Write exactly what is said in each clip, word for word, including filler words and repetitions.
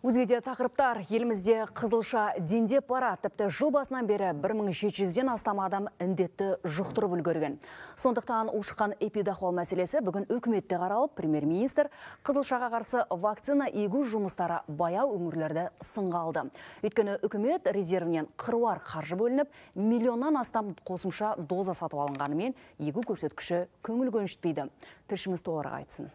Өзгеде тақырыптар, елімізде қызылша дендеп бара, тіпті жыл басынан бері бір мың жеті жүзден астам адам індетті жұқтырып үлгерген. Сондықтан ушыққан эпидахуал мәселесі бүгін үкіметте қаралып, премьер-министр қызылшаға қарсы вакцина егу жұмыстары баяу өңірлерді сынға алды. Өйткені үкімет резервінен қыруар қаржы бөлініп, миллионнан астам қосымша доза сатып алынғанымен егу көрсеткіші көңіл көншітпейді. Тілшіміз толығырақ айтсын.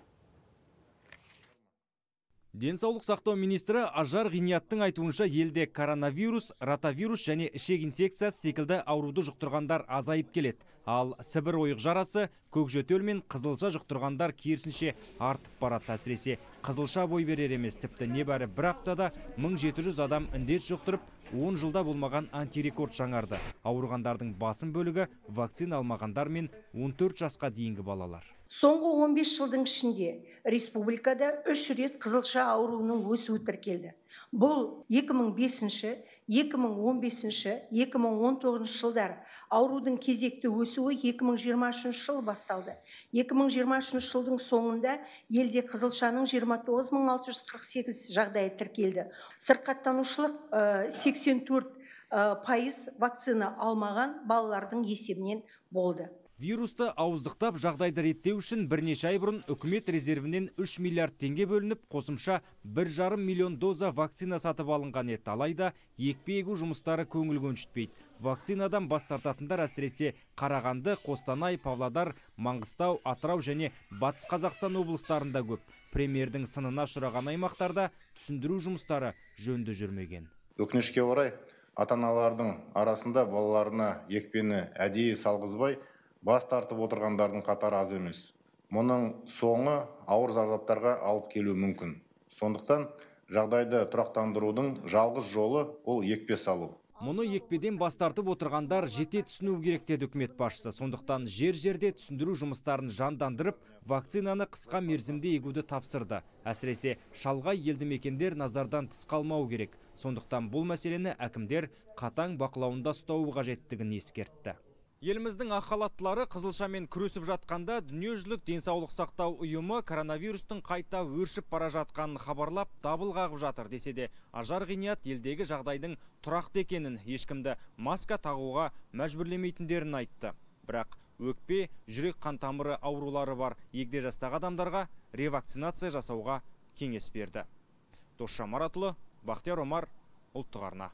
Денсаулық сақтау министрі Ажар Ғинияттың айтуынша елде коронавирус, ротавирус және ішек инфекциясы секілді ауруды жұқтырғандар азайып келеді. Ал Сібір ойық жарасы, көкжөтел мен қызылша жұқтырғандар керісінше артып барады. Әсіресе қызылша бой берер емес, тіпті небәрі бір аптада мың жеті жүз адам індет жұқтырып, он жылда болмаған антирекорд жаңарды. Ауырғандардың басым бөлігі вакцина алмағандар мен он төрт жасқа дейінгі балалар. Соңғы он бес жылдың ішінде республикада үш рет қызылша ауруының өсуі тіркелді. Бұл екі мың бесінші, екі мың он бесінші, екі мың он тоғызыншы жылдар. Аурудың кезекті өсуі екі мың жиырма үшінші жыл басталды. екі мың жиырма үшінші жылдың соңында елде қызылшаның жиырма тоғыз мың алты жүз қырық сегіз жағдайы тіркелді. Сырқаттанушылық сексен төрт пайыз вакцина алмаған балалардың есебінен болды. Вирусты ауыздықтап жағдайды реттеу үшін бірнеше ай бұрын үкімет резервінен үш миллиард теңге бөлініп, қосымша бір жарым миллион доза вакцина сатып алынған еді. Алайда екпе егу жұмыстары көңіл көншітпейді. Вакцинадан бас тартатындар әсіресе Қарағанды, Қостанай, Павлодар, Маңғыстау, Атырау және Батыс Қазақстан облыстарында көп. Премьердің сынына ұшыраған аймақтарда түсіндіру жұмыстары жөнді жүрмеген. Өкінішке орай, ата-аналардың арасында балаларына екпені әдейі салғызбай бас тартып отырғандардың қатары аз емес. Мұның соңы ауыр зардаптарға алып келуі мүмкін. Сондықтан жағдайды тұрақтандырудың жалғыз жолы ол екпе салу. Мұны екпеден бас тартып отырғандар жете түсіну керек деді үкімет басшысы. Сондықтан жер-жерде түсіндіру жұмыстарын жандандырып, вакцинаны қысқа мерзімде егуді тапсырды. Әсіресе шалғай елді мекендер назардан тыс қалмау керек. Сондықтан бұл мәселені әкімдер қатаң бақылауында ұстауы қажеттігін ескертті. Еліміздің ақ халаттылары қызылшамен күресіп жатқанда дүниежүзілік денсаулық сақтау ұйымы коронавирустың қайта өршіп бара жатқанын хабарлап дабыл қағып жатыр десе де, Ажар Ғиният елдегі жағдайдың тұрақты екенін, ешкімді маска тағуға мәжбүрлемейтіндерін айтты. Бірақ өкпе, жүрек қан тамыры аурулары бар егде жастағы адамдарға ревакцинация жасауға кеңес берді. Досша Маратұлы, Бақтияр Омар, Ұлттық арна.